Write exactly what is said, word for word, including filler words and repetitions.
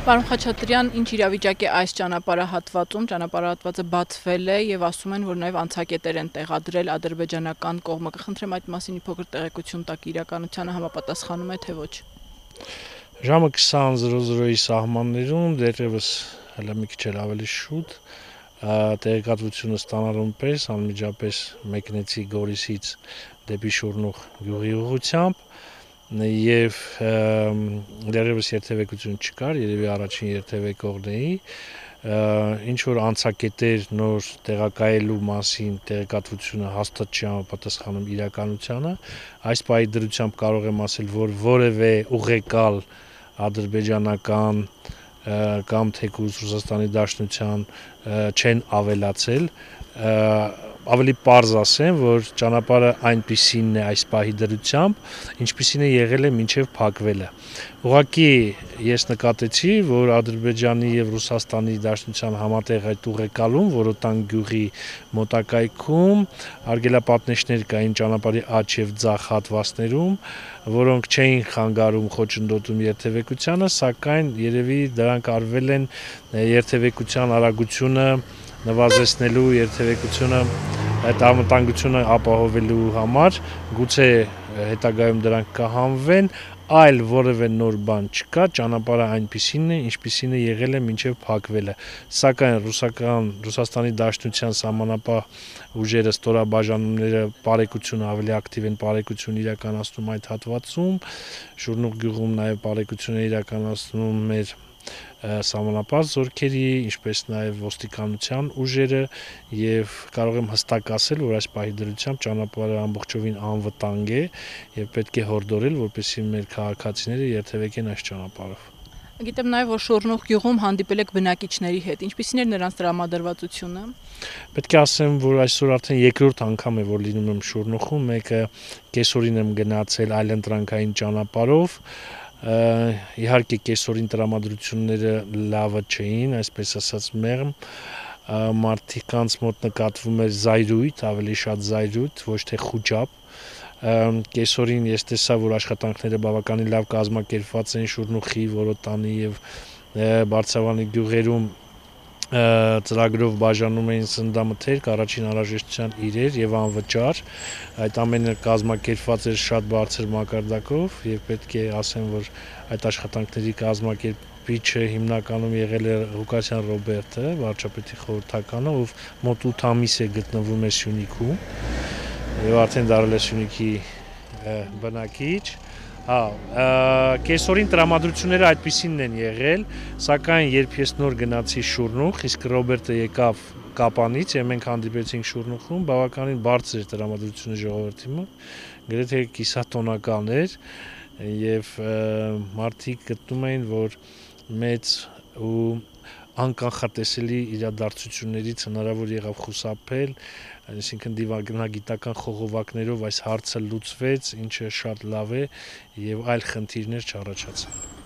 Պարոն Խաչատրյան, ինչ իրավիճակ է այս ճանապարհահատվածում, ճանապարհահատվածը բացվել է եւ ասում են, որ նաեւ անցակետեր են տեղադրել ադրբեջանական կողմը, կխնդրեմ այդ մասին մի փոքր տեղեկություն տաք, իրականությանը համապատասխանում է թե ոչ։ Ժամը քսան զրո զրոյի սահմաններում դեռևս հələ մի քիչ էլ ավելի շուտ տեղեկատվությունը ստանալուն պես անմիջապես մեկնեցի Գորիսից դեպի Շուռնուղ գյուղի ուղղությամբ եւ դեռևս երթևեկություն չկար, երևի առաջին երթևեկողն էի, ինչ որ անցակետեր նոր տեղակայելու մասին տեղեկատվությունը հաստատ չի համապատասխանում իրականությանը, այս պահի դրությամբ կարող եմ ասել, որ որևէ ուղեկալ ադրբեջանական կամ թեկուզ Ռուսաստանի Դաշնության չեն ավելացել, ավելի պարզ ասեմ, որ ճանապարհը այնպիսին է այս պահի դրությամբ, ինչպիսին է եղել է մինչև փակվելը։ Ուղղակի ես նկատեցի, որ Ադրբեջանի եւ Ռուսաստանի Դաշնության համատեղ այդ ուղեկալում Որոտան գյուղի մոտակայքում արգելապատնեշներ կային ճանապարհի աջ եւ ձախ հատվածներում, որոնք չէին խանգարում խոչընդոտում երթևեկությանը, սակայն երևի դրանք արվել են երթևեկության արագությունը նվազեցնելու, երթևեկությունը այդ անվտանգությունը ապահովելու համար, գուցե հետագայում դրանք կհանվեն, այլ որևէ նոր բան չկա, ճանապարհը այնպիսին է, ինչպիսին է եղել է մինչև փակվելը, սակայն ռուսական Ռուսաստանի Դաշնության սահմանապահ ուժերը, ստորաբաժանումները բարեկությունը ավելի ակտիվ են բարեկություն իրականացնում այդ հատվածում, Շուռնուղ գյուղում նաև բարեկություն է իրականացնում մեր սահմանապահ զորքերի, ինչպես նաև ոստիկանության ուժերը եւ կարող եմ հստակ ասել, որ այս պահի դրությամբ ճանապարհը ամբողջովին անվտանգ է եւ պետք է հորդորել, որպեսզի մեր քաղաքացիները երթևեկեն այս ճանապարհով։ Գիտեմ նաև, որ Շուռնուղ գյուղում հանդիպել եք բնակիչների հետ, ինչպիսին էր նրանց տրամադրվածությունը։ Պետք է ասեմ, որ այսօր արդեն երկրորդ անգամ է, որ լինում եմ Շուռնուղում, մեկը կեսօրին եմ գնացել այլընտրանքային ճանապարհով, իհարկե կեսօրին տրամադրությունները լավը չէին, այսպես ասած մեղմ, մարդկանց մոտ նկատվում էր զայրույթ, ավելի շատ զայրույթ, ոչ թե խուճապ, կեսօրին ես տեսա, որ աշխատանքները բավականին լավ կազմակերպված են Շուռնուղի, Որոտանի եւ Բարձավանի գյուղերում ծրագրով բաժանում էին սննդամթերք, առաջին անհրաժեշտության իրեր եւ անվճար, այդ ամենը կազմակերպված էր շատ բարձր մակարդակով եւ պետք է ասեմ, որ այդ աշխատանքների կազմակերպիչը հիմնականում եղել է Ղուկասյան Ռոբերտը, վարչապետի խորհրդականը, ով մոտ ութ ամիս է գտնվում է Սյունիքում եւ արդեն դարձել է Սյունիքի բնակիչ։ Հա, կեսօրին տրամադրությունները այդպիսինն են եղել, սակայն երբ ես նոր գնացի Շուռնուղ, իսկ Ռոբերտը եկավ Կապանից եւ մենք հանդիպեցինք Շուռնուղում, բավականին բարձր էր տրամադրությունը ժողովրդի մոտ, գրեթե կիսատոնական էր եւ մարդիկ գտնում էին, որ մեծ ու անկանխատեսելի իրադարձություններից հնարավոր եղավ խուսափել, այսինքն դիվանագիտական խողովակներով այս հարցը լուծվեց, ինչը շատ լավ է եւ այլ խնդիրներ չառաջացան։